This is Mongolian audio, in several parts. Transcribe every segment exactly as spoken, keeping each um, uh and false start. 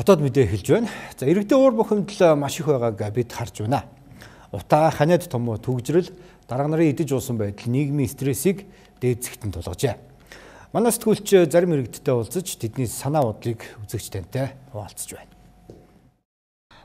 Хотод мэдээ хэлж байна. За иргэдийн уур бухимдал маш их байгааг бид харж байна. Утаа ханиад том төгжрөл дарга нарын идэж уусан байдал нийгмийн стрессийг дээдсэхтэн тулгажээ. Манай сэтгүүлч зарим иргэдтэй уулзаж тэдний санаа бодлыг үзэгчдэнтэй хуваалцж байна.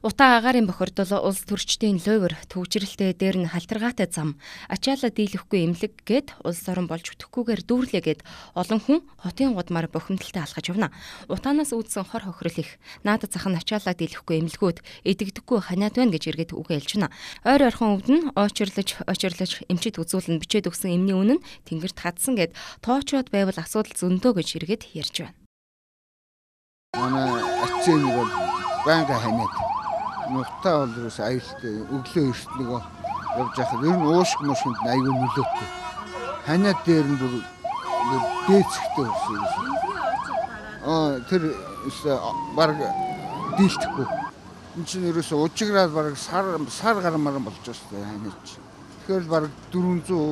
Утаа агаарын бохирдол улс төрчдийн лойвор төгжрэлтэй дээр нь халтаргаатай зам ачаалаа дийлэхгүй эмнэлэг гээд улс орон болж өтөхгүйгээр дүүрлээ гээд олон хүн хотын гудмаар бохимдалтай алхаж явна. Утаанаас үүдсэн хор хохирол их наадад зах нь ачаалаа дийлэхгүй эмнэлгүүд эдэгдэхгүй ханиад байна гэж иргэд үгээ хэлж байна. Ойр ойрхон өвд нь очирлож очирлож эмчид үзүүлэн бичээд өгсөн эмний үнэн тэнгэрт хадсан гээд тоочоод байвал асуудал зөндөө гэж иргэд ярьж байна. Манай ачаа нэг бол банга ханиад Нутаа бол ерөөс аюултай өглөө эрт нөгөө явж байхад ер нь уушг мушинд аюул нөлөөтэй. Ханиад дээр нь бүр дээцэхтэй болсон юм. Аа тэр баг дийлдэхгүй. Энд чинь ерөөс ужиграад баг сар сар гармаар болж байна ханиад чи. Тэгэхээр баг дөрвөнзөө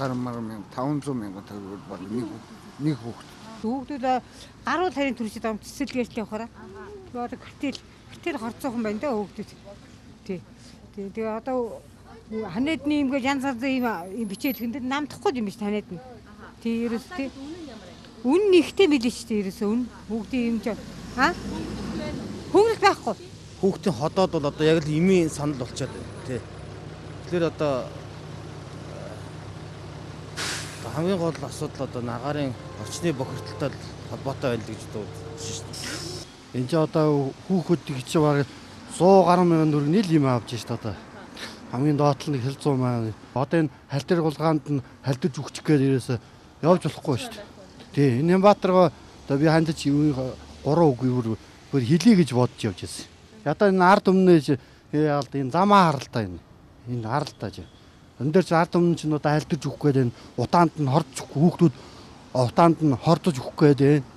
гармаар мянга таван зуун мянга төгрөг баг нэг нэг хүүхэд. Хүүхдүүд гаруул харийн төрөсөд ам цэцэлгээртэй явахаараа. Тэгээд гэртэл тэр хорцоохон байна даа хүүхдүүд. Тий. Тий. Тэгээ одоо ханиадны юм гэж янз янзын юм бичээд хүндэд намдахгүй юм биш ханиад нь. Тий ерөөс тий. Үн нэгтэй билээ шүү дээ ерөөсөө үн хүүхдийн юм ч аа хөнгөлт байхгүй. Хүүхдийн ходоод бол одоо яг л имийн санал болчиход байна тий. Тэгэхээр одоо хамгийн гол асуудал одоо агарын орчны бохирдолтой холбоотой байна л гэж дуудсан шүү дээ. Энд ч одоо хүүхэд гэж баг сто гаруй мянган төгрөг нийл юм авч шít одоо. Хамгийн доотлол нь хэл зуун маань. Одоо энэ халтар гулгаанд нь халтаж өгчих гээд ерөөсө явж болохгүй шít. Тий, энэ Нямбатарга одоо би хандаж гурван үг бүр хэлий гэж бодож явж байсан. Одоо энэ ард өмнөөж яалд энэ замаа харалтаа энэ. Энэ харалтаа ч. Өн дээр ч ард өмнө ч одоо халтаж өгөх гээд энэ утаанд нь хорж хүүхдүүд утаанд нь хордож өгөх гээд байна.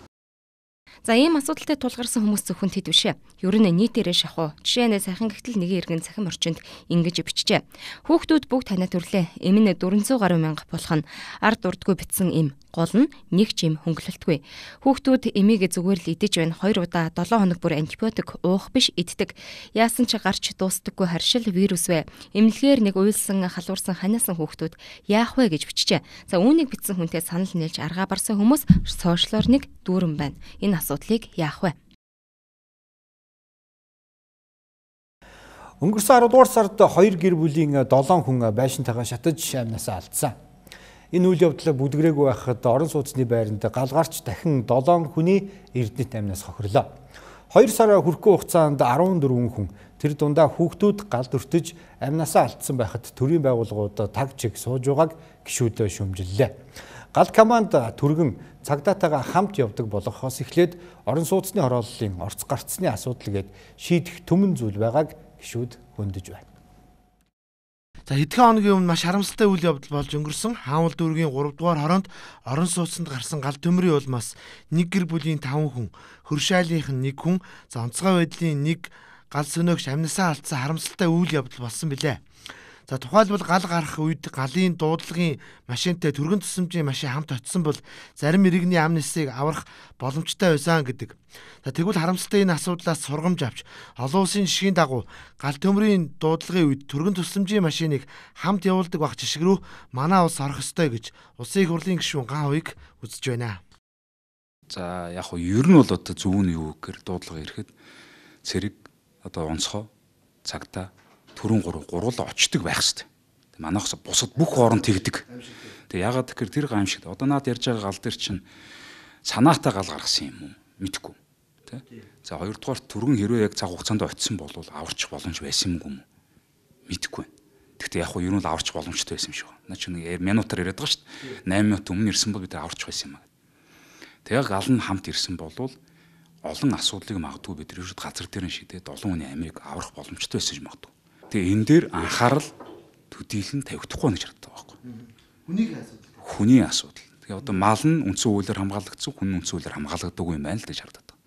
За ийм асуудалтай тулгарсан хүмүүс зөвхөн тэд биш ээ. Ер нь нийтээрээ шахуу. Жишээ нь сайхан гэгтэл нэгэн иргэн цахим орчинд ингэж бичжээ. Хүүхдүүд бүгд танаа төрлөө. Эм нь дөрвөнзөө гаруй мянга болох нь ард урдгүй битсэн эм. Гол нь нэг ч юм хөнгөлөлтгүй. Хүүхдүүд эмийг зүгээр л идэж байна. Хоёр удаа долоо хоног бүр антибиотик уух биш иддэг. Яасан ч гарч дуустдаггүй харшил вирус вэ. Эмнэлгээр нэг уйлсан халуурсан ханиасан хүүхдүүд яах вэ гэж бичжээ. За үүнийг бичсэн хүнтэй санал нийлж аргаа барсан хүмүүс сошиалор нэг дүүрэн байна. Энэ асуудлыг яах вэ? Өнгөрсөн арвадугаар сард хоёр гэр бүлийн долоон хүн байшинтайгаа шатаж амнасаа алдсан. Энэ үйл явдлыг бүдгэрээгүй байхад орон сууцны байранд галгарч дахин долоон хүний эрдэнэт амнаас хохирлоо. Хоёр сар хүрэхгүй хугацаанд арван дөрвөн хүн тэр дундаа хүүхдүүд галд өртөж амнасаа алдсан байхад төрийн байгууллагууд таг чиг сууж байгааг гишүүд шүүмжиллээ. Гал команд түргэн цагдаатайгаа хамт явдаг болохоос эхлээд орон сууцны хорооллын орц гарцсны асуудал гээд шийдэх түмэн зүйл байгааг гишүүд хөндөж байна. За хэдхэн хоногийн өмнө маш харамсалтай үйл явдал болж өнгөрсөн. Хаамал дүүргийн гурав дугаар хороонд орон сууцнд гарсан гал төмрийн улмаас нэг гэр бүлийн таван хүн, хөршайлынх нь нэг хүн, за онцгой байдлын нэг гал сөнөөгч амнасаа алдсан харамсалтай үйл явдал болсон билээ. За тухайлбал гал гарах үед галын дуудлагын машинтай түргэн тусламжийн машин хамт очисон бол зарим иргэний амнисыг аврах боломжтой байсан гэдэг. За тэгвэл харамсалтай энэ асуудлаас сургамж авч олон улсын жишгийн дагуу гал төмрийн дуудлагын үед түргэн тусламжийн машиныг хамт явуулдаг баг жишг рүү манай улс орох ёстой гэж улсын их хурлын гишүүн Ган Хувийг үзэж байна. За яг хөө ер нь бол одоо зөв нь юу гэхээр дуудлага ирэхэд цэрэг одоо онцгой цагтаа түрүүн гурав гуруула очдөг байх хэвээр. Манайхс бусад бүх орон тэгдэг. Тэгээ ягаад гэхээр тэр гамшигт одоо наад ярьж байгаа гал дээр чинь санаатай гал гаргасан юм уу? Мэдхгүй. Тэ? За хоёрдугаар түргэн хэрвээ яг цаг хугацаанд очисон бол аварчих боломж байсан юм уу? Мэдхгүй. Гэхдээ яг хуу ер нь аварч боломжтой байсан юм шиг байна. Наа чи нэг минутаар яриад байгаа шүү дээ. восемь минут өмнө ирсэн бол бид аварч байсан юм аа. Тэгээ гал нь хамт ирсэн бол олон асуудлыг магадгүй бид ерөөд газар дээр нь шидээд олон хүний амийг аврах боломжтой байсан юм магадгүй. Тэгээ энэ дээр анхаарал төдийлөн тавигдахгүй гэж харагддаг байхгүй. Хүнийг асуудал. Хүний асуудал. Тэгээ одоо мал нь үндсэн хуулиар хамгаалагдсан, хүн үндсэн хуулиар хамгаалагддаггүй юм байна л гэж харагддаг.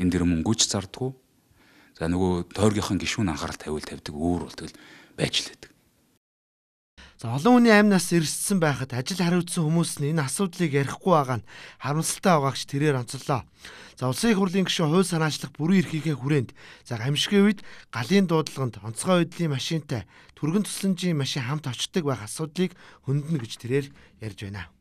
Энэ дээр мөнгөж зардаггүй. За нөгөө тойргийнхын гишүүн анхаарал тавиул тавьдаг өөр бол тэгэл байж л байдаг. За олон хүний амнаас эрсдсэн байхад ажил хариуцсан хүмүүс нь энэ асуудлыг ярихгүй байгаа нь харамсалтай байгаагч тэрээр онцлоо. За улсын их хурлын гишүүн хууль санаачлах бүрэн эрхийнхээ хүрээнд за гамшигын үед галын дуудлаганд онцгой байдлын машинтай түргэн тусламжийн машин хамт очдог байх асуудлыг хөндлөнө гэж тэрээр ярьж байна.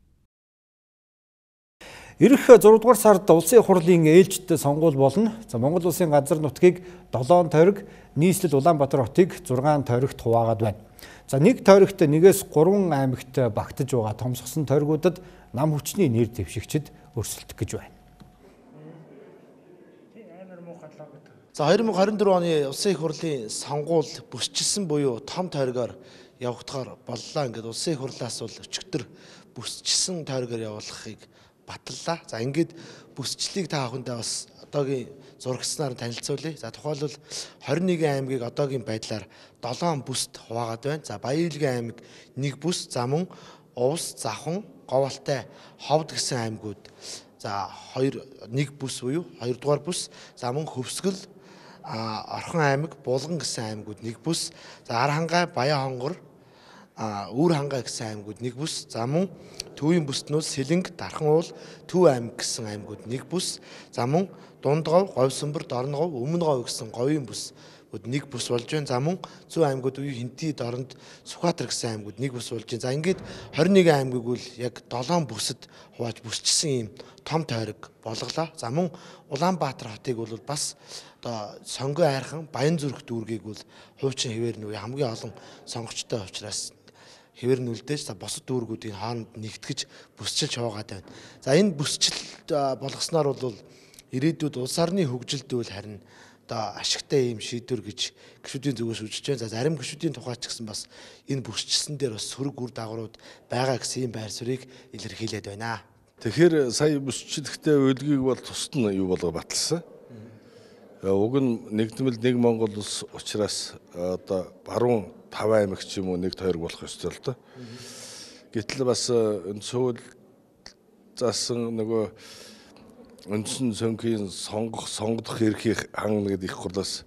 Ирэх зураг дугаар сард улсын их хурлын ээлжид сонгуул болно. За Монгол улсын газар нутгийг долоон тойрог, нийслэл Улаанбаатар хотыг зургаан тойрогт хуваагаад байна. За нэг тойрогт нэгээс гурван аймагт багтаж байгаа томсгосон тойргуудад нам хүчний нэр дэвшигчид өрсөлдөх гэж байна. За две тысячи двадцать четыре оны улсын их хурлын сонгуул бүсчилсэн буюу том тойргоор явагдахаар боллоо. Ингээд улсын их хурлаас бол өчигдөр бүсчилсэн тойргоор явуулахыг батллаа. За ингээд бүсчлийг та бүхэндээ бас одоогийн зурагчнаар танилцуулъя. За тухайлбал двадцать one аймгийг одоогийн байдлаар долоон бүст хуваагаад байна. За Баян-Илгийн аймаг нэг бүс, за мөн Увс, Завхан, Говьалтай, Ховд гэсэн аймагуд за хоёр нэг бүс буюу хоёр дугаар бүс, за мөн Хөвсгөл, Орхон аймаг, Булган гэсэн аймагуд нэг бүс, за Архангай, Баян хонгор, Үүр хангай гэсэн аймагуд нэг бүс, за мөн Төвийн бүстнүүд Сэлэнг, Дархан уул, Төв аймаг гэсэн аймагуд нэг бүс, за мөн Дундгов, Говьсөнбөр, Дорногов, Өмнө Говь гэсэн говийн бүс нэг бүс болж байна. За мөн Зүүн аймагуд буюу Хинти, Дорнд, Сүхбаатар гэсэн аймагуд нэг бүс болж байна. За ингээд двадцать one аймгийг үл яг долоон бүсэд хувааж бүсчилсэн ийм том тойрог болголоо. За мөн Улаанбаатар хотыг бол бас одоо сонгой айрхан Баян зүрх дүүргийг бол хуучин хэвээр нь хамгийн олон сонгогчтой учраас хэвээр нь үлдээж за босод дүүргүүдийн хооронд нэгтгэж бүсчилж хуваагаад байна. За энэ бүсчилт болгосноор бол ирээдүйд улс орны хөгжилд үл харин одоо ашигтай ийм шийдвэр гэж гишүүдийн зүгээс үзэж байна. За зарим гишүүдийн тухайч гэсэн бас энэ бүсчилсэн дээр бас сөрөг үр дагаврууд байгаа гэсэн ийм байр суурийг илэрхийлээд байна. Тэгэхээр сая бүсчлэгтэй үлгийг бол тусад нь юу болго баталсан. Уг нь нэгдмэл нэг Монгол улс учраас одоо баруун таван аймаг ч юм уу нэг тойрог болох ёстой л доо. Гэтэл бас энэ сүүл заасан нөгөө үндсэн цонхийн сонгох сонгодох эрхийг хангана гэдэг их хурлаас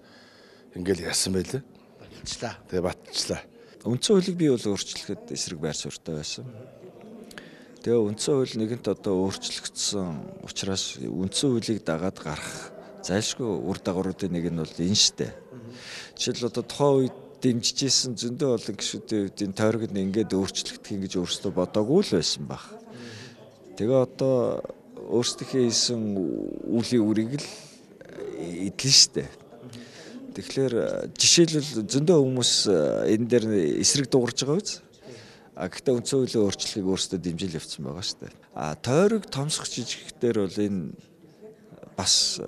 ингээл яасан байлээ. Баталчлаа. Тэгээ баталчлаа. Үндсэн хуулийг би бол өөрчлөхөд эсрэг байр суурьтай байсан. Тэгээ үндсэн хууль нэгэнт одоо өөрчлөгдсөн учраас үндсэн хуулийг дагаад гарах зайлшгүй үр дагавруудын нэг нь бол энэ штэ. Жишээл одоо тухайн үед дэмжижсэн зөндөө олон гишүүдийн үед энэ тойрогд ингээд өөрчлөгдөх гэж өөрсдөө бодоогүй л байсан баг. Тэгээ одоо өөрсдийнхээ хийсэн үлийн үрийг л эдлэн штэ. Тэгэхээр жишээлбэл зөндөө хүмүүс энэ дээр эсрэг дуурж байгаа биз? А гэхдээ үндсэн хуулийн өөрчлөлийг өөрсдөө дэмжил явуулсан байгаа штэ. А тойрог томсох жижигчдэр бол энэ бас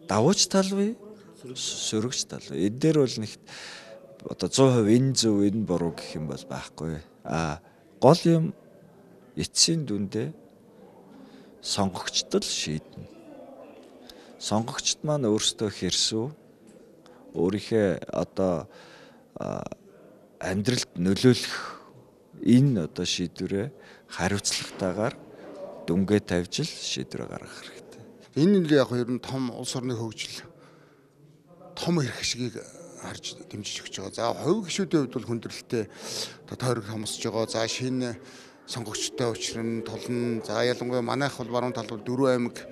давууч тал бай, сөрөгч тал. Энэ дээр бол нэг одоо сто перцент энэ зөв энэ буруу гэх юм бол байхгүй. А гол юм эцсийн дүндээ сонгогчд л шийднэ. Сонгогчд маань өөрсдөө хэрсүү өөрийнхөө одоо амьдралд нөлөөлөх энэ одоо шийдвэрээ хариуцлагатайгаар дүнгээ тавьж л шийдвэр гаргах хэрэгтэй. Энэ нь яг ер нь том улс орны хөгжил том эрх ашигыг харж дэмжиж өгч байгаа. За хувь гишүүдийн хувьд бол хүндрэлтэй одоо тойрог томсож байгаа. За шинэ сонгогчтой учрын тулна. За ялангуяа манайх бол баруун талбал дөрвөн аймаг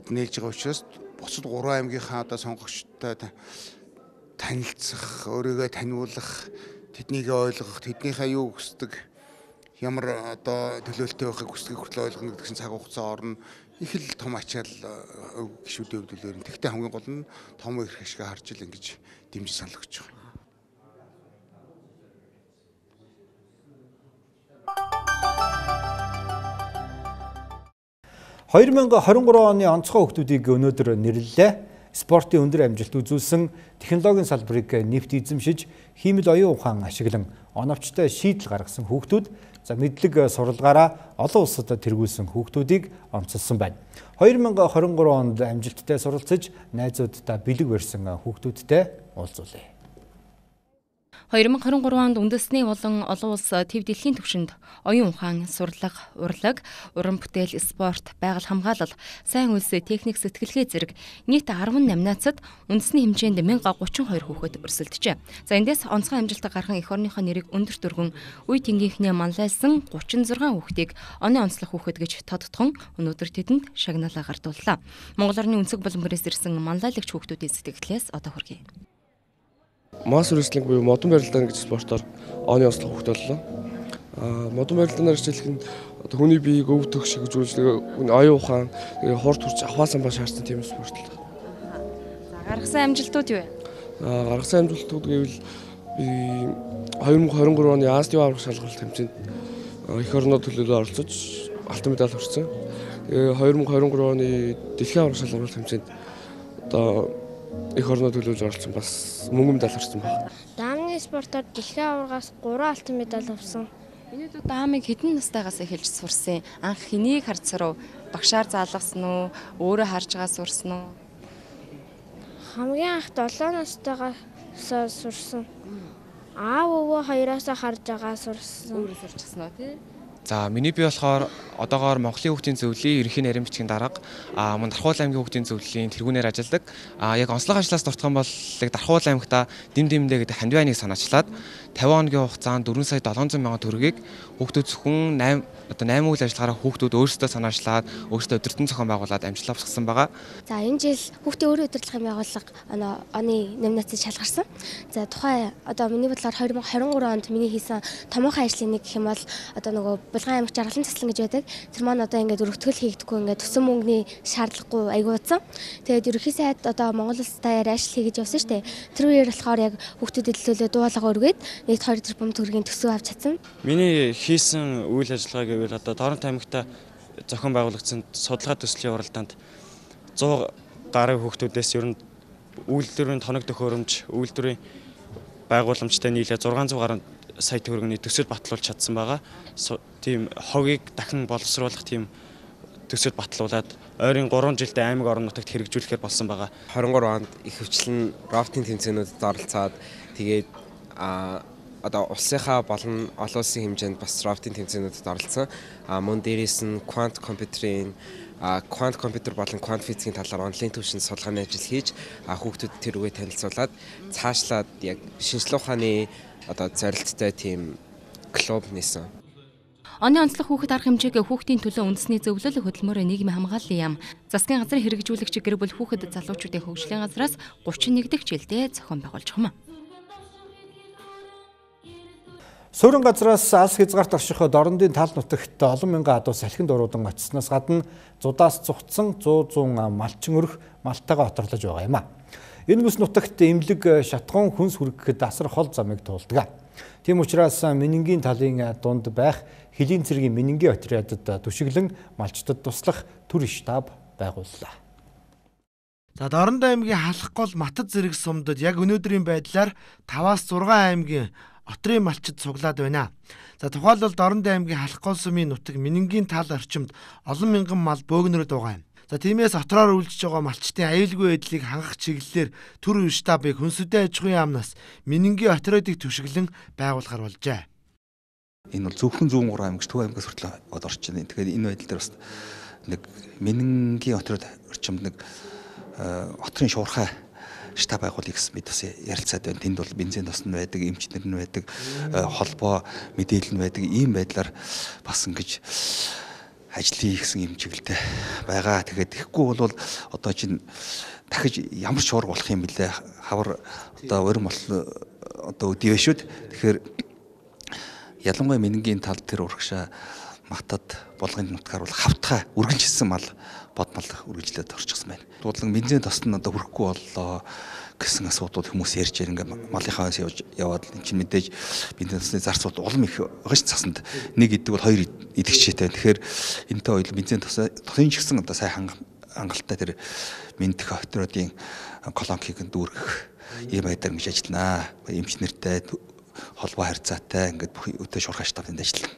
нээлж байгаа учраас бусад гурван аймгийнхаа одоо сонгогчтой танилцах, өөрийгөө таниулах, тэднийг ойлгох, тэднийхээ юу хүсдэг, ямар одоо төлөөлтөй байхыг хүсдэг хүртэл ойлгоно гэсэн цаг хугацаа орно. Их л том ачаал гишүүдийн хувьд л тэгтээ хамгийн гол нь том эрх ашиг харж ил ингэж дэмжиж санал өгч байгаа. две тысячи двадцать три оны онцгой хүүхдүүдийг өнөөдөр нэрлэлээ. Спортын өндөр амжилт үзүүлсэн, технологийн салбарыг нэвт эзэмшиж, хиймэл оюун ухаан ашиглан оновчтой шийдэл гаргасан хүүхдүүд, за мэдлэг суралгаараа олон улсад тэргүүлсэн хүүхдүүдийг онцолсон байна. две тысячи двадцать три онд амжилттай суралцаж, найзуудтай бэлэг барьсан хүүхдүүдтэй уулзуулъя. хоёр мың хорин гурав онд үндэсний болон олон улс төв дэлхийн түвшинд оюун ухаан, сурлага, урлаг, уран бүтээл, спорт, байгаль хамгаалал, сайн үйлс, техник, сэтгэлгээ зэрэг нийт арван номинацид үндэсний хэмжээнд мянга гучин хоёр хүүхэд өрсөлдөжээ. За эндээс онцгой амжилт гарган эх орныхоо нэрийг өндөр дүргэн үе тэнгийнхнээ манлайлсан гучин зургаан хүүхдийг оны онцлог хүүхэд гэж тодтгон өнөөдөр тэдэнд шагналаа гардууллаа. Монгол орны өнцөг буланбарээс ирсэн манлайлагч хүүхдүүдийн сэтгэлээс одоо хүргэе. Масс рестлинг буюу модон барилдаан гэж спортоор оны онцлог хүүхэд боллоо. Аа модон барилдаанаар хичээлэх нь одоо хүний биеийг өв төх шиг үзүүлж оюун ухаан, хурд хурц аваасан ба шаардсан тийм спорт л. За гаргасан амжилтууд юу вэ? Аа гаргасан амжилтууд гэвэл би хоёр мың хорин гурав оны Азийн аврах шалгалт тэмцээнд эх орноо төлөөлөө оролцож алтан медаль авсан. Тэгээ хоёр мың хорин гурав оны дэлхийн аврах шалгалт тэмцээнд одоо эх орноо төлөөлж оролцсон бас мөнгөн медаль авсан байна. Даамны спортоор дэлхийн аваргаас гурван алтан медаль авсан. Энэ дүү даамыг хэдэн настайгаас эхэлж сурсан? Анх хэнийг харж сурав? Багшаар заалгасан уу? Өөрөө харж байгаа сурсан уу? Хамгийн анх долоо настайгаас сурсан. Аав өвөө хоёроосоо харж байгаа сурсан. Өөрөө сурчихсан уу тий? За миний би болохоор одоогоор Монголын хүүхдийн зөвлөлийн ерөнхий нарийн бичгийн дарга а мөн Дархуул аймгийн хүүхдийн зөвлөлийн тэргүүнээр ажилладаг. А яг онцлог ажлаас дуртах юм бол Дархуул аймагта дэм дэмдээ гэдэг хандив айныг санаачлаад тавин хоногийн хугацаанд дөрвөн сая долоон зуун мянган төгрөгийг хүүхдүүд зөвхөн восемь одоо восемь үйл ажиллагаараа хүүхдүүд өөрсдөө санаачлаад өөрсдөө өдөртөн зохион байгуулад амжилт авсан байгаа. За энэ жил хүүхдийн өөрийн удирдлагын байгууллага оны номинацид шалгарсан. За тухайн одоо миний бодлоор хоёр мың хорин гурав онд миний хийсэн томоохон ажлын нэг гэх юм бол одоо нөгөө Булган аймаг жаргалан цэцлэн гэж байдаг. Тэр маань одоо ингээд өргөтгөл хийгдэггүй ингээд төсөн мөнгөний шаардлагагүй айгуудсан. Тэгээд ерөнхий сайд одоо Монгол улс даяар ажил хийж явсан шүү дээ. Тэр үеэр болохоор яг хүүхдүүдэд төлөө дуулага өргөөд нийт хоёр тэрбум төгрөгийн төсөв авч чадсан. Миний хийсэн үйл ажиллагаа гэвэл одоо Торонто аймагта зохион байгуулагдсан судалгаа төслийн уралдаанд зуун гаруй хүүхдүүдээс ер нь үйлдвэрийн тоног төхөөрөмж, үйлдвэрийн байгууламжтай нийлээ зургаан зуун гаруй сая төгрөгийн төсөв батлуулж чадсан байгаа. Тийм хогийг дахин боловсруулах тийм төсөв батлуулаад ойрын гурван жилдээ аймаг орон нутагт хэрэгжүүлэхээр болсон байгаа. хорин гурав онд их хвчлэн рафтинг тэмцээнүүдэд оролцоод тэгээд а одоо улсынхаа болон олон улсын хэмжээнд бас рафтинг тэмцээнүүдэд оролцсон. А мөн дээрээс нь квант компьютерийн квант компьютер болон квант физикийн талаар онлайн түвшинд судалгааны ажил хийж хүүхдүүд тэр үгээ танилцуулаад цаашлаад яг шинжлэх ухааны одоо зорилттой тийм клуб нээсэн. Оны онцлог хүүхэд арга хэмжээг хүүхдийн төлөө үндэсний зөвлөл хөтөлмөр нийгмийн хамгааллын яам засгийн газрын хэрэгжүүлэгч гэр бүл хүүхэд залуучуудын хөгжлийн газраас гучин нэг дахь жилдээ зохион байгуулж байгаа юм. Суурин газраас алс хязгаарт орших дорндын тал нутагт олон мянган адуу салхинд уруудан очсноос гадна зудаас цугцсан сто зуун малчин өрх малтайгаа оторлож байгаа юм а. Энэ бүс нутагт эмнэлэг шатгуун хүнс хүргэхэд асар хол замыг туулдаг. Тийм учраас менингийн талын дунд байх хилийн цэргийн менингийн отрядад түшиглэн малчдад туслах төр штаб байгууллаа. За Дорнод аймгийн Халахгол Матад зэрэг сумдад яг өнөөдрийн байдлаар таваас зургаан аймгийн отрын малчид цуглаад байна. За тухайлбал Дорнод аймгийн Халахгол сумын нутаг менингийн тал орчимд олон мянган мал бөөгнөрөд байгаа юм. За тиймээс отроор үйлчж байгаа малчтын аюулгүй байдлыг хангах чиглэлээр төр штабыг хүнсүдэн аж ахуйн яамнаас менингийн отрядыг түшиглэн байгуулахар болжээ. Энэ бол зөвхөн зүүн гурван аймагч Төв аймагаас хүртэл орж байна. Тэгэхээр энэ байдал дээр бас нэг менингийн отряд орчимд нэг отрын шуурхай штаб байгуулъя гэсэн мэд бас ярилцаад байна. Тэнд бол бензин тосн байдаг, эмчнэр нь байдаг, холбоо мэдээлэл нь байдаг. Ийм байдлаар бас ингэж ажлын гэсэн юм чиглэлтэй байгаа. Тэгээд тэгэхгүй бол одоо чинь дахиж ямар ч шуурга болох юм бэлээ. Хавар одоо өрн бол одоо өдөө шүүд. Тэгэхээр ялангуяа менингийн тал тэр урагшаа Матад болгоны нутгаар бол хавтгай үргэлжилсэн мал бодмал үргэлжлээд орчихсон байна. Дуудлан бензин тосн одоо хүрэхгүй боллоо гэсэн асуудал хүмүүс ярьж байгаа. Ингээ малынхаа явж яваад эн чинь мэдээж бензин тосны зарцууд улам их байгаа ш цасанд нэг идэг бол хоёр идэгчтэй. Тэгэхээр энэтэй хоёул бензин тосны тосын ч гэсэн одоо сайн хангалттай тэр мэндэх отрядын колонкийг дүүргэх ийм байдлаар ингэж ажилланаа. Эмч нэртэй холбоо харьцаатай ингээд бүх өдөө шуурхай штабнд ажиллана.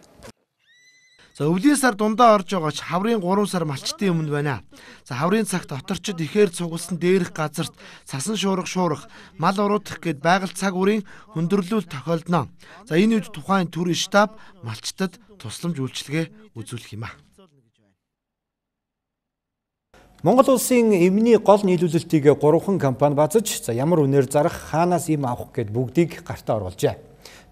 За өвлийн сар дундаа орж байгаач хаврын гурван сар малчтын өмнө байна. За хаврын цагт оторчид ихээр цугласан дээрх газарт цасан шуурга шуурах, мал уруутгах гээд байгаль цаг үрийн хөндөрлөл тохиолдно. За энэ үед тухайн төр штаб малчтад тусламж үйлчилгээ үзүүлэх юм а. Монгол улсын эмний гол нийлүүлэлтийг гурван компани базаж, за ямар үнээр зарах, хаанаас им авах гэд бүгдийг гартаа оруулжээ.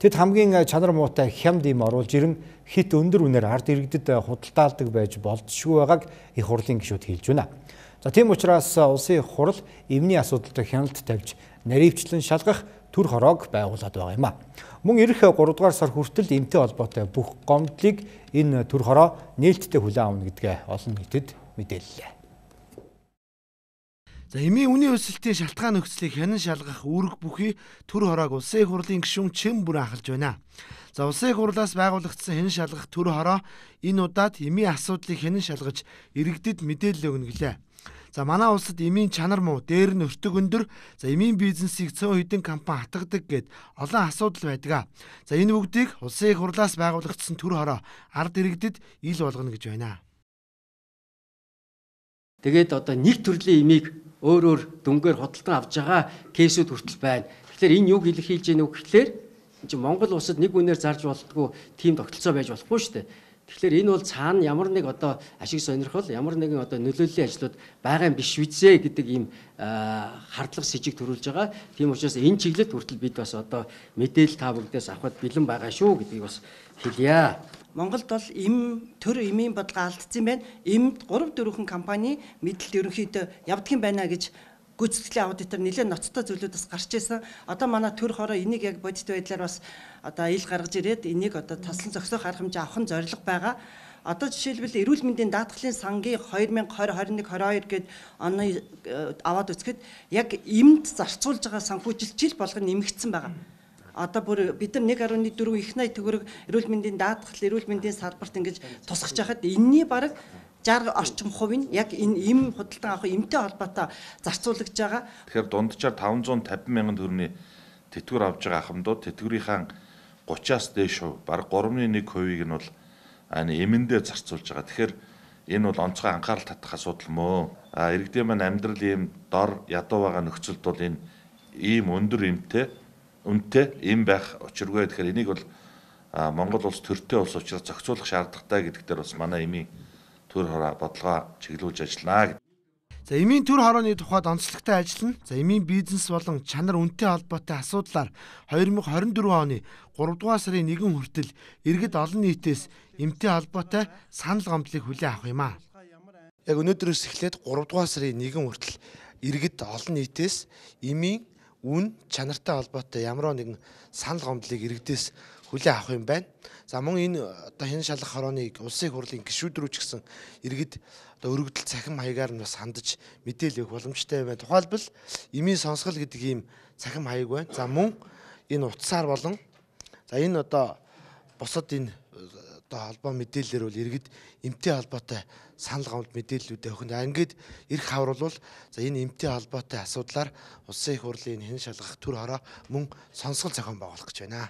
Тэд хамгийн чанар муутай хямд им оруулж ирэн хит өндөр үнээр ард иргэдэд худалдаалдаг байж болзошгүй байгааг их хурлын гишүүд хэлж байна. За тийм учраас улсын хурал эмний асуудалд хяналт тавьж наривчлан шалгах төр хороог байгуулад байгаа юм а. Мөн ирэх гурав дугаар сар хүртэл эмтэй холбоотой бүх гомдлыг энэ төр хороо нээлттэй хүлээн авна гэдгээ олон нийтэд мэдээллээ. За эмийн үнийн өсөлтийн шалтгаан нөхцөлийг хянан шалгах үүрэг бүхий төр хороог улсын их хурлын гишүүн Чим бүр анхалж байна. За улсын их хурлаас байгуулагдсан хянан шалгах төр хороо энэ удаад эмийн асуудлыг хянан шалгаж иргэдэд мэдээлэл өгнө гэлээ. За манай улсад эмийн чанар муу, дээр нь өртөг өндөр, за эмийн бизнесийг цөөн хэдэн компани хатгадаг гэд олон асуудал байдаг. За энэ бүгдийг улсын их хурлаас байгуулагдсан төр хороо ард иргэдэд ил болгоно гэж байна. Тэгээд одоо нэг төрлийн эмийг өөр өөр дүнгээр худалдан авч байгаа кейсүүд хүртэл байна. Тэгэхээр энэ юг илэрхийлж яах вэ гэхээр чи Монгол улсад нэг үнээр зарж болтгоо тийм тогтолцоо байж болохгүй шүү дээ. Тэгэхээр энэ бол цаана ямар нэг одоо ашиг сонирхол, ямар нэгэн одоо нөлөөллийн ажлууд байгаа юм биш визээ гэдэг ийм хардлага с жиг төрүүлж байгаа. Тийм учраас энэ чиглэлд хүртэл бид бас одоо мэдээлэл та бүгдээс авахд бэлэн байгаа шүү гэдгийг бас хэлье. Монголд бол эм төр эмийн бодлого алдсан байна. Эмд гурав дөрвөн компани мэдлэлт ерөнхийдөө явдгийн байна гэж гүйцэтгэлийн аудитор нэлээд ноцтой зүйлүүдээс гарч ирсэн. Одоо манай төр хороо энийг яг бодит байдлаар бас одоо ил гаргаж ирээд энийг одоо таслан зогсоох арга хэмжээ авах нь зорилго байгаа. Одоо жишээлбэл эрүүл мэндийн даатгалын сангийн две тысячи двадцать, двадцать один, двадцать deux гээд оны аваад үзэхэд яг эмд зарцуулж байгаа санхүүжилт жил болгоно нэмэгдсэн байгаа. Одоо бүр бид нар one point four их найт төгрөг эрүүл мэндийн даатгал, эрүүл мэндийн салбарт ингэж тусгаж байхад энэний бараг sixty орчим хувь нь яг энэ эм худалдан авах эмтэй холбоотой зарцуулагдж байгаа. Тэгэхээр дунджаар five hundred fifty мянган төгрөгийн тэтгэвэр авж байгаа ахмадууд тэтгэврийнхаа thirty-аас дээш хувь, бараг three point one хувийг нь бол эмэндээ зарцуулж байгаа. Тэгэхээр энэ бол онцгой анхаарал татах асуудал мөө. А иргэдийн маань амьдрал ийм дор ядуу байгаа нөхцөлд бол энэ ийм өндөр эмтэй үнэтэй эм байх учиргүй. Тэгэхээр энийг бол Монгол улс төртэй улс учраас зохицуулах шаардлагатай гэдэг дээр бас манай эмийн төр хороо бодлогоо чиглүүлж ажиллана гэдэг. За эмийн төр хорооны тухайд онцлогтой ажиллана. За эмийн бизнес болон чанар үнэтэй холбоотой асуудлаар twenty twenty-four оны three дугаар сарын нэгэн хүртэл иргэд олон нийтээс эмтэй холбоотой санал гомдлыг хүлээн авах юм а. Яг өнөөдрөөс эхлээд three дугаар сарын нэгэн хүртэл иргэд олон нийтээс эмийн үн чанартай холбоотой ямар нэгэн санал гомдлыг иргэдээс хүлээн авах юм байна. За мөн энэ одоо хянан шалгах хорооныг улсын их хурлын гишүүд рүү ч гэсэн иргэд одоо өргөдөл цахим хаягаар нь бас хандаж мэдээлэл өгөх боломжтой байна. Тухайлбал эмийн сонсгол гэдэг ийм цахим хаяг байна. За мөн энэ утсаар болон за энэ одоо бусад энэ одоо холбоо мэдээлэлээр бол иргэд эмтэй холбоотой санал гомд мэдээллүүдээ өгөх. Ингээд эрх хавруулвал за энэ эмтэй холбоотой асуудлаар улсын их хурлын хянан шалгах төр хороо мөн сонсгол зохион байгуулах гэж байна.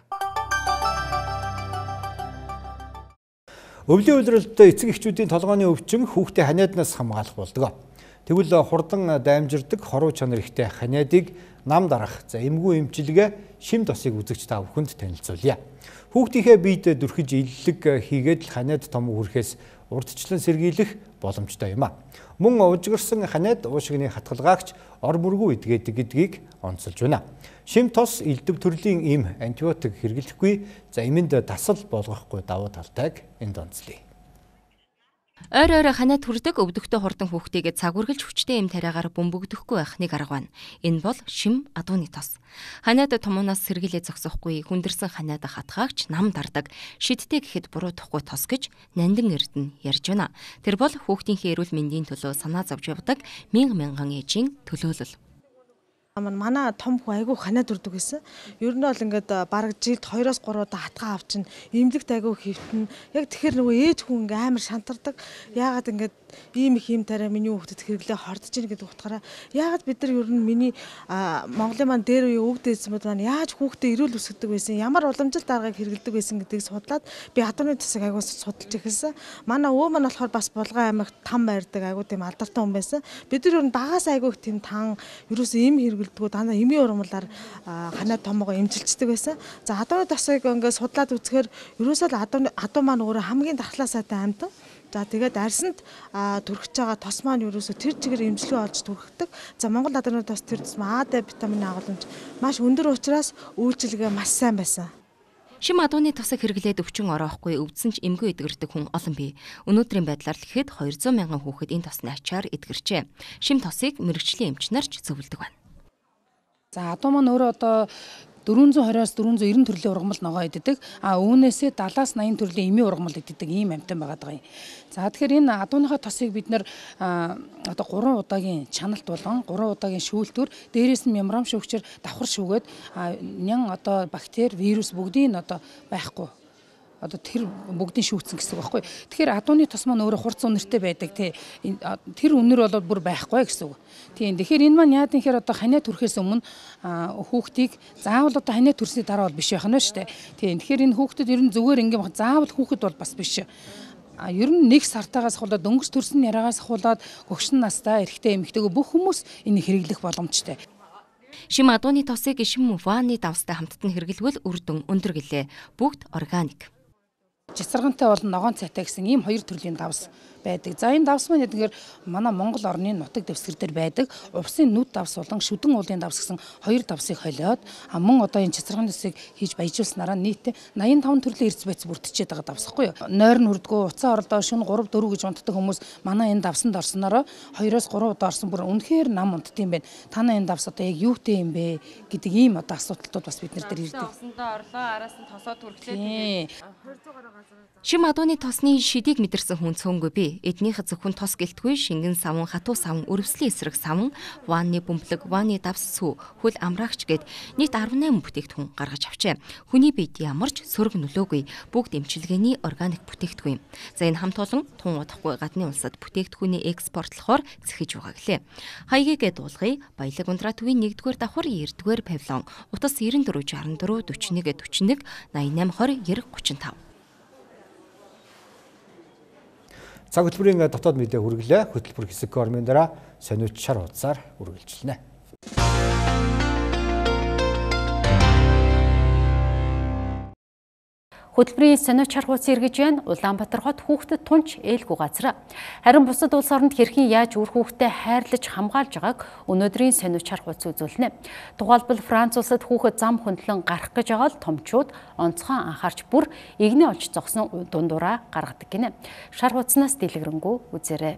Өвлийн улиралд эцэг эхчүүдийн толгойн өвчин хүүхдээ ханиаднаас хамгаалах болдог. Тэгвэл хурдан даймжирдаг хоруу чанар ихтэй ханиадыг нам дарах, за эмгүү эмчилгээ шим тосыг үзэгч та бүхэнд танилцуулъя. Хүүхдийнхээ биед дүрхэж иллэг хийгээд л ханиад том хүрэхээс урдчлан сэргийлэх боломжтой юм а. Мөн ужигэрсэн ханиад уушигны хатгалгаагч ор мөргүү идгээдэг гэдгийг онцолж байна. Шим тос элдв төрлийн эм антибиотик хэрэглэхгүй, за эмэнд дасал болгохгүй давуу талтайг энд онцлие. Ойр ойроо ханиад хүрдэг өвдөгтэй хурдан хүүхдийгээ цаг үргэлж хүчтэй эм тариагаар бөмбөгдөхгүй байх нэг арга байна. Энэ бол шим адууны тос. Ханиад томооноос сэргийлээ зогсохгүй хүндэрсэн ханиад хатгаагч нам дардаг, шидтэй гэхэд буруутахгүй тос гэж Нандин Эрдэнэ ярьж байна. Тэр бол хүүхдийнхээ эрүүл мэндийн төлөө санаа зовж явдаг мянга мянган ээжийн төлөөлөл. Манай том хүн айгүй ханаад үрдэг гэсэн. Ер нь бол ингээд бараг жилд хоёроос гурав удаа хатгаа авчин, эмнэлэгт айгүй хэвтэн. Яг тэгэхээр нөгөө ээж хүн ингээ амар шантардаг. Яагаад ингээд ийм их юм тарай миний хүүхдэд хэрэглээ хордож ийн гэдэг утгаараа яагаад бид нар ер нь миний Монголын маань дээр үе өвгд эзэмүүд маань яаж хүүхдэд эрүүл өсгдөг байсан, ямар уламжлалт аргыг хэрэглэдэг байсан гэдгийг судлаад би хатууны тасыг айгүй судалж эхэлсэн. Манай өвөө маань болохоор бас Булган аймагт там байрдаг айгүй тийм алдартай хүн байсан. Бид нар ер нь багаас айгүй тийм тан ерөөсөө им хэрэглэдэггүй дандаа эмийн урмалаар ханаа томоогоо эмчилчдэг байсан. За хатууны тасыг ингээд судлаад үзэхээр ерөөсөө л хатуу хатуу маань өөрөө хамгийн дархлаа сайтай амьтан. За тэгээд арьсанд түрхэж байгаа тос маань ерөөсө тэр чигээр эмчилгээ олж түрхдэг. За Монгол хатууны тос тэр тусмаа А, Д витамины агуулмж маш өндөр учраас үйлчилгээ маш сайн байсан. Шим адууны тосыг хэрэглээд өвчин ороохгүй өвдсөн ч эмгүү эдгэрдэг хүн олон бий. Өнөөдрийн байдлаар л ихэд хоёр зуун мянган хүүхэд энэ тосны ачаар эдгэрчээ. Шим тосыг мэрэгжлийн эмч нар ч зөвлөдөг байна. За адуу маань өөрөө одоо дөрвөн зуун двадцать-аас дөрвөн зуун девяносто төрлийн ургамал ногоо иддэг. А үүнээсээ седлаас наян төрлийн эмийн ургамал иддэг ийм амьтан байгаа даа. За тэгэхээр энэ адууныхаа тосыг бид нэр одоо гурван удаагийн чаналт болгон гурван удаагийн шүүлтүр дээрээс нь мембран шүүгчээр давхар шүүгээд нян одоо бактери, вирус бүгдийг одоо байхгүй одоо тэр бүгдийг шүүгцэн гэсэн үг байхгүй. Тэгэхээр адууны тос маань өөрөө хурц үнэртэй байдаг тий. Тэр үнэр бол бүр байхгүй гэсэн үг. Тийм. Тэгэхээр энэ маань яад нэхэр одоо ханаа түрхээс өмнө хүүхдийг заавал одоо ханаа түрсний дараа бол биш байх нь шүү дээ. Тийм. Тэгэхээр энэ хүүхдэд ер нь зүгээр ингээм заавал хүүхэд бол бас биш. А ер нь нэг сартаагаас ахуулаад дөнгөс төрсөн яраагаас ахуулаад гөгшин настай эрэгтэй эмэгтэйгөө бүх хүмүүс энийг хэрэглэх боломжтой. Шим адууны тосыг шим ваны давстай хамтд нь хэрэглэвэл үр дүн өндөр гэлээ. Бүгд органик. Жицаргантай болон ногоон цайтай гэсэн ийм хоёр төрлийн давс байдаг. За энэ давс маань тэгэхээр манай Монгол орны нутаг дэвсгэр дээр байдаг. Увсын нүд давс болон шүдэн уулын давс гэсэн хоёр давсыг холиод мөн одоо энэ жицарган давсыг хийж баяжуулснараа нийтдээ наян таван төрлийн эрдэс байц бүрдчихэд байгаа давсахгүй юу. Нойр нь хүрдгүү уцаа орлоо шөнө гурав дөрөв гэж унтдаг хүмүүс манай энэ давсанд орснороо хоёроос гурав удаа орсон бүр үнэхээр нам унтд юм байна. Танаа энэ давс одоо яг юутэй юм бэ гэдэг ийм одоо асуудалтууд бас бид нар дээр ирдэг. Давсандаа орлоо араас нь тосоо түрхлээ. Шим адууны тосны шидийг мэдэрсэн хүн цөөнгүй би. Эднийх зөвхөн тос гэлтгүй шингэн савн, хатуу савн, өрөвслийн эсрэг савн, ванны бөмбөлөг, ванны давс сүү, хөл амраагч гээд нийт арван найман бүтээгдэхүүн гаргаж авчээ. Хүний биед ямар ч сөрөг нөлөөгүй бүгд эмчилгээний органик бүтээгдэхүүн. За энэ хамт олон тун удахгүй гадны улсад бүтээгдэхүүний экспортлохоор зэхэж байгаа гэлээ. Хаягийн дуулгыг Баялаг ундраа төвийн нэгдүгээр давхар эрдүгээр павильон, утас девяносто четыре шестьдесят четыре forty-one forty-one eighty-eight twenty thirty-five. Цаг хөтөлбөрийн дотоод мэдээ хүргэлээ. Хөтөлбөр хэсэг кормын дараа сониуч шар хуудасаар үргэлжилнэ. Хөтөлбөрийн сониуч шар хуудас эргэж байна. Улаанбаатар хот хүүхдэд тунч ээлгүй газар. Харин бусад улс оронд хэрхэн яаж үр хүүхдэд хайрлаж хамгаалж байгааг өнөөдрийн сониуч шар хуудас үзүүлнэ. Тухайлбал Франц улсад хүүхэд зам хөндлөн гарах гэж байгаа л томчууд онцгой анхаарч бүр игний олж зогсон дундураа гаргадаг гинэ. Шар хуудаснаас дэлгэрэнгүй үзээрэй.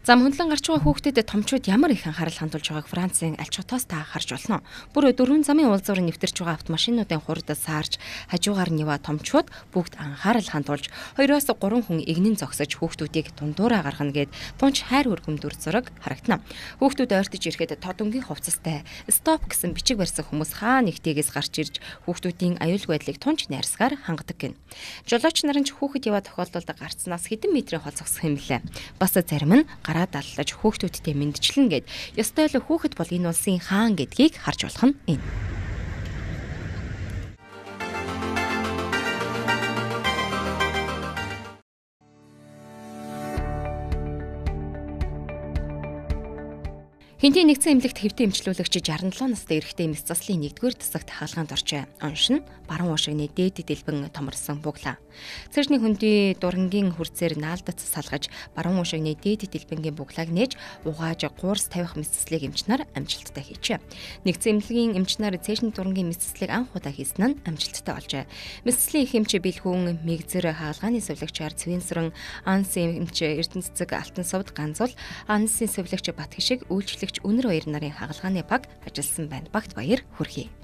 Зам хөндлөн гарч байгаа хүүхдэд томчууд ямар их анхаарал хандуулж байгааг Францын аль чотоос та харж болно. Бүр дөрвөн замын уулзуур нэвтэрч байгаа автомашинуудын хурдад саарж хажуугаар нива томчууд бүгд анхаарал хандуулж хоёроос гурван хүн игнэн зогсож хүүхдүүдийг дундуураа гаргана гэд тунч хайр хүргэм дүр зураг харагдана. Хүүхдүүд ойртож ирэхэд тодонгийн хувцастай стоп гэсэн бичиг барьсан хүмүүс хаа нэгтээс гарч ирж хүүхдүүдийн аюулгүй байдлыг тунч найрсгаар хангадаг гин. Жолооч нар нь хүүхэд яваа тохиолдолд гарцнаас хэдэн метрийн хол зогсох юм лээ. Бас зарим нь гараа даллаж хүүхдүүдтэй мэндчлэн гээд ёстой л хүүхэд бол энэ улсын хаан гэдгийг харж болох нь энэ. Хинтийн нэгдсэн эмнэлэгт хэвтэн эмчлүүлэгч шестьдесят seven настай эрэгтэй эмс заслын нэгдүгээр тасагт хаалгаанд оржээ. Оншин баруун уушигны дээд дэлбэн томорсон буглаа. Цэржний хөндий дурангийн хүрцээр наалдац салгаж баруун уушигны дээд дэлбэнгийн буглааг нээж угааж гуурс тавих мэдслийг эмчнэр амжилттай хийжээ. Нэгдсэн эмнэлгийн эмчнэр цэржний дурангийн мэдслийг анх удаа хийсэн нь амжилттай болжээ. Мэдслийн их эмч Бэлхүүн Мэгзэр хаалгааны сувлагчаар Цэвэнсрэн Ансын эмч Эрдэнэцэг Алтан сувд Ганзуул Ансын сувлагч Батгишиг үйлчлэгч Үнэр баяр нарын хаалгааны баг ажилласан байна. Багт баяр хүргэе.